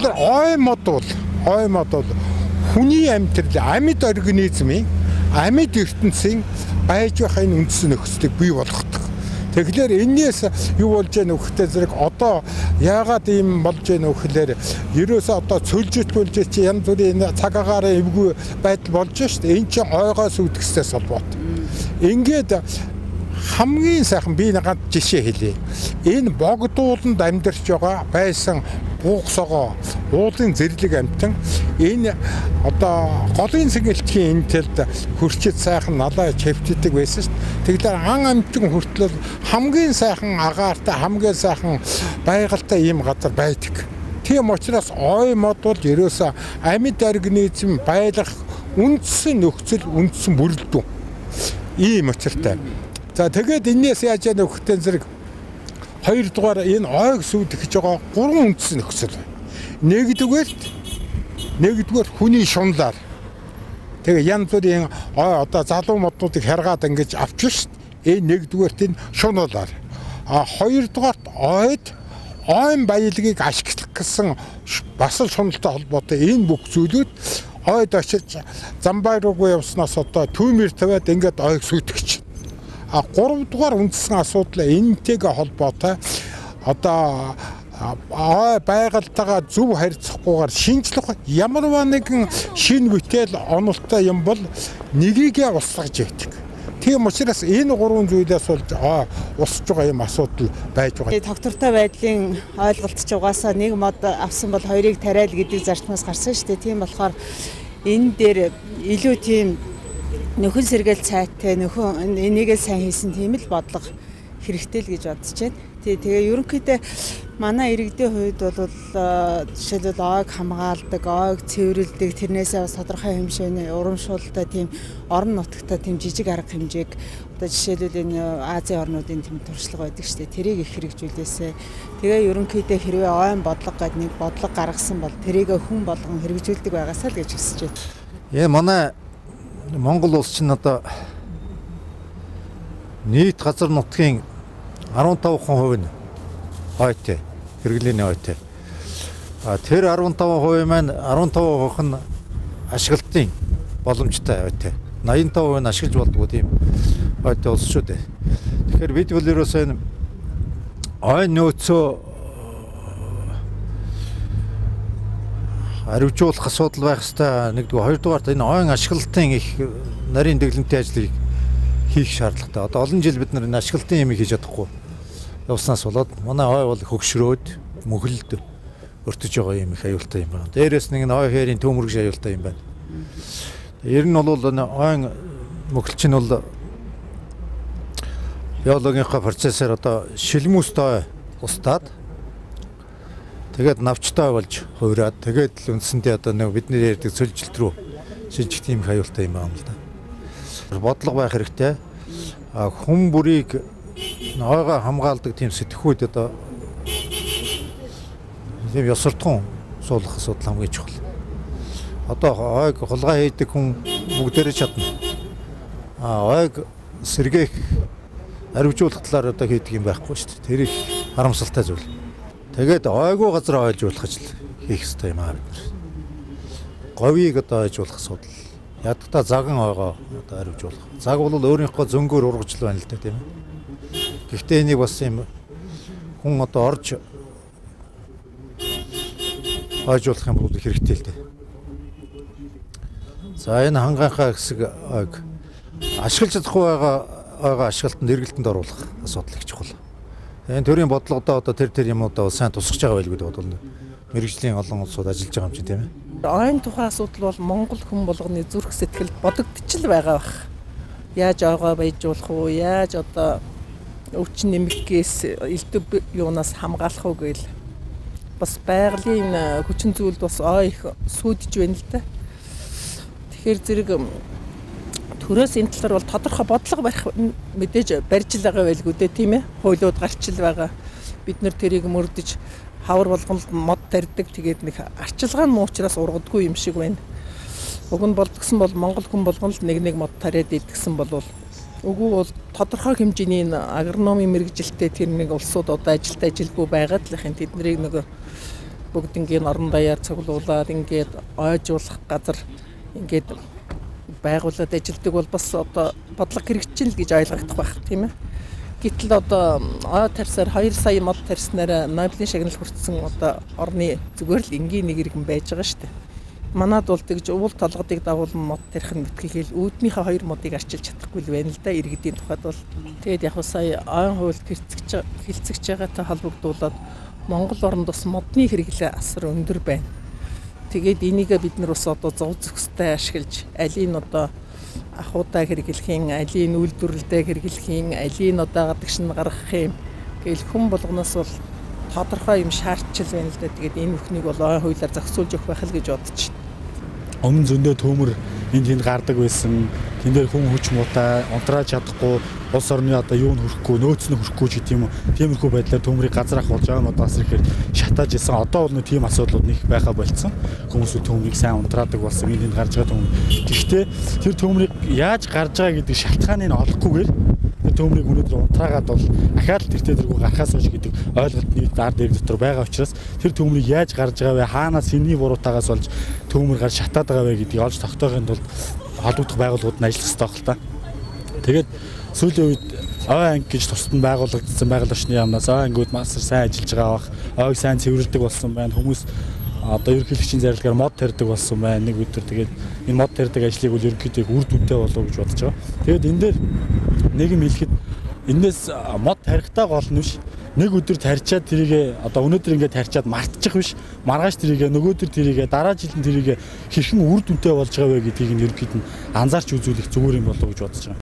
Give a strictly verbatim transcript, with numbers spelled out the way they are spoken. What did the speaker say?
Тэгэхээр ой мод бол ой мод бол хүний амьдрал амьд организмын амьд ертөнцийн байж байх энэ үндсэн нөхцөлийг бий болгодог. Тэгэхээр энээс юу болж яах нөхөтэй зэрэг одоо яагаад ийм болж яах нөхлөөр ерөөсөө одоо цөлжит болж чи янз бүрийн цаг агаараа эвгүй байдал болж шүү дээ. Энд чинь ойгоос үүдгэсээс холбоотой. Ингээд хамгийн сайхан би нэг жишээ хэлье. Энэ богдууланд амьдарч байгаа байсан буухсогоо уулын зэрлэг амтан энэ одоо голын сэнгэлтгийн энэ тэлд хурчид сайхан налаа чивтдэг байсан шүү дээ. Тэгэхээр ан амтан хүртэл хамгийн сайхан агаартай хамгийн сайхан байгальтай ийм газар байдаг. Тийм учраас ой мод бол ерөөсөө амьд организм байлгах үндсэн нөхцөл үндсэн бүрэлдэхүүн ийм учиртай. За тэгээд энэс яаж яах нөхөтэй зэрэг хоёрдугаар энэ ойг сүд гэж байгаа гурван үндсэн нөхцөл байна. Нэгдүгээр нэгдүгээр хүний шунлаар. Тэгээ янз бүрийн одоо залуу моднуудыг харгаад ингэж авчих шүү дээ. Энэ нэгдүгээрт энэ шунуулаар. А хоёрдугаарт ойд ойн баялагийг ашиглах гэсэн бас л шуналтай холбоотой энэ бүх зүйлүүд ойд очиж замбай руугаа явснаас одоо түүмэр тавиад ингээд ойг сүтгэж. А гуравдугаар үндсэн асуудал энэтэйгээ холбоотой одоо ой байгальтайгаа зөв харьцахгүйгээр шинжлэх ямар нэгэн шинэ бүтээл онолтой юм бол нёгийгээ устгаж байдаг. Тийм учраас энэ гурван зүйлээс болж усж байгаа юм асуудал байж байгаа. Доктортой байдлын ойлголт ч угаасаа нэг мод авсан бол хоёрыг тариал гэдэг зарчмаас гарсан шүү дээ. Тийм болохоор энэ дээр илүү тийм нөхөн сэргээл цайтай нөхөн энийгээ сайн хийсэн тийм л бодлого хэрэгтэй л гэж бодож байна. Тий тэгээ ерөнхийдөө манай иргэдийн хувьд бол жишээлбэл ойг хамгаалдаг, ойг цэвэрлдэг, тэрнээсээ бас тодорхой хэмжээний урамшуулалтаа тийм орон нутагтаа тийм жижиг арга хэмжээг одоо жишээлбэл энэ Азийн орнуудын тийм туршлага байдаг шүү дээ. Тэрийг их хэрэгжүүлээсэ. Тэгээ ерөнхийдөө хэрвээ ойн бодлого гэдэг нэг бодлого гаргасан бол тэрийг хүн болгон хэрэгжүүлдэг байгаасаа л гэж хүсэж байна. Яа манай Монгол улс чинь одоо нийт газар нутгийн арван таван хувь нь ойтой, хэрэглээний ойтой. А тэр арван таван хувь маань арван таван хувь нь ашиглалтын боломжтой ойтой. найман таван хувь нь ашиглаж болдгоо тийм ойтой улс шүү дээ. Тэгэхээр бид бол ерөөсөө энэ ойн нөөцөө хариуцуулах асуудал байх ёстой. Нэгдүгээр, хоёрдугаарт энэ ойн ашиглалтын их нарийн дэглэмтийн ажлыг хийх шаардлагатай. Одоо олон жил бид нар энэ ашиглалтын юм хийж чадахгүй явснаас болоод манай ой бол хөгшрөөд мөхөлд өртөж байгаа юм их аюултай юм байна. Дээрээс нэг ой хээрийн төмөргөж аюултай юм байна. Ер нь бол энэ ойн мөхөлч нь бол биологийнхаа процессор одоо шилмүстэй устдаад тэгээд навчтай болж хувраад тэгээд л үндсэндээ одоо нэг бидний ярьдаг цөлжилт рүү шилжих тийм аюултай юм байна л да. Бодлого байх хэрэгтэй. А хүн бүрийг ойгоо хамгаалдаг тийм сэтгхүүд одоо тийм ёсортхон суулгах асуудал хамгийн чухал. Одоо ойг хулгай хийдэг хүн бүгдээрээ чадна. А ойг сэргээх аривжуулах талаар одоо хийдэг юм байхгүй шүү дээ. Тэр их харамсалтай зүйл. Тэгээд ойгоо газар ойлжуулах ажил хийх хэрэгтэй юм аа бид. Говийг одоо ойжуулах асуудал. Ядтаа заган ойгоо одоо аривжуулах. Цаг бол өөрийнхөө зөнгөөр ургажл байна л да тийм ээ. Гэхдээ энийг бас юм хүн одоо орж ойжуулах юм бол хэрэгтэй л дээ. За энэ хангийнхаа хэсэг ойг ашиглаж чадахгүй байгаа ойгоо ашиглалтанд эргэлтэнд оруулах асуудал их чухал. Энэ төрлийн бодлогодоо одоо тэр тэр юмудаа сайн тусгаж байгаа байлгүй бодвол мэрэгжлийн олон улсууд ажиллаж байгаа юм чинь тийм ээ. Ойн тухайн асуудал бол Монгол хүн болгоны зүрх сэтгэлд бодогдчихл байгаа бах. Яаж ойгоо баяжуулах уу? Яаж одоо өвчин нэмэгээс элдв юунаас хамгаалах уу гээл бас байгалийн хүчин зүйлд бас ой их сүйдэж байна л да. Тэгэхээр зэрэг төрөөс энэ талаар бол тодорхой бодлого барих мэдээж барьж л байгаа байлгүй дээ тийм ээ. Хуулиуд гарч л байгаа. Бид нэр тэрийг мөрдөж хавар болгонд мод тарьдаг тэгээд нэг арчилгаа нь уучраас ургадгүй юм шиг байна. Уг нь болдгсон бол Монгол хүн болгон л нэг нэг мод тариад идэгсэн бол үгүй бол тодорхой хэмжээний агрономи мэрэгжилтэй тэр нэг улсууд одоо ажилд ажилгүй байгаад л хин тэднийг нэг бүгднгийн орон даяар цуглуулад ингээд ойжуулах газар ингээд байгуулад ажилдаг бол бас одоо бодлого хэрэгжил гэж ойлгогдох байх тийм ээ. Гэтэл одоо ой тарсаар хоёр сая мод тарснараа Нобелийн шагнал хүртсэн одоо орны зүгээр л энгийн нэг иргэн байж байгаа шүү дээ. Манад бол тэгж уул толгодыг дагуулсан мод тарих нь битгийхэл үүднийхээ хоёр модыг арчилж чадахгүй л байна л да иргэдийн тухайд бол. Тэгээд яг сая ойн хуульд хилцэж хилцэж байгаатай холбогдуулаад Монгол оронд бас модны хэрэглээ асар өндөр байна. Тэгээд энийгээ бид нар бас одоо зов зөхстэй ашиглаж алийн одоо ахуйтай хэрэглэхийн, алийн үйлдвэрлэлтэй хэрэглэхийн, алийн одоо гадагш нь гаргах юм гэл хүн болгоноос бол тодорхой юм шаардчил байна л да. Тэгээд энэ бүхнийг бол ойн хуулиар зохицуулж өгөх байх л гэж бодож байна. Өмнө зөндөө төмөр энд тэнд гардаг байсан. Тэн дээр хүн хүч муутай, унтрааж чадахгүй, улс орны одоо юунд хүрэхгүй, нөөц нь хүрэхгүй ч гэдэм юм. Тиймэрхүү байдлаар төмрийг газраах болж байгаа юм одоо бас ихээр шатааж исэн. Одоо бол нэг тийм асуудлууд нэг байха болцсон. Хүмүүс төмрийг сайн унтраадаг болсон. Энд тэнд гарч байгаа төмөр. Гэхдээ тэр төмрийг яаж гарч байгаа гэдэг шалтгааныг олохгүйгээр тэр төмрийг өнөөдөр унтраагаад бол ахаад тэр тэргүй гарахаас хойш гэдэг ойлголт нийт дар дээр дотор байгаа учраас тэр төмрийг яаж гарч байгаа вэ? Хаанаас энэний буруутаагаас болж төмөр гарч шатаад байгаа вэ гэдгийг олж тогтоохын тулд холбогдох байгууллагууд нь ажиллах хэрэгтэй хэл та. Тэгээд сүүлийн үед ой анги гэж тусад нь байгуулагдсан байгаль орчны яамнаас ой ангиуд маш сайн ажиллаж байгаа бах. Ойг сайн цэвэрлдэг болсон байна. Хүмүүс одоо ерөнхийлөгчийн зарилгаар мод тарьдаг болсон байна. Нэг өдөр тэгээд энэ мод тарьдаг ажлыг бол ерөнхийдөө үр дүнтэй болов гэж бодож байгаа. Тэгээд энэ дээр нэг юм хэлэхэд энэс мод тарихтаа гол нь биш. Нэг өдөр тарьчаад тэрийг одоо өнөөдөр ингээд тарьчаад мартчих биш. Маргааш тэрийг нөгөөдөр тэрийг дараа жилд тэрийг хэрхэн үр дүнтэй болж байгаа вэ гэдгийг нь ерөнхийд нь анзаарч үзүүлэх зүгээр юм болов гэж бодож байгаа.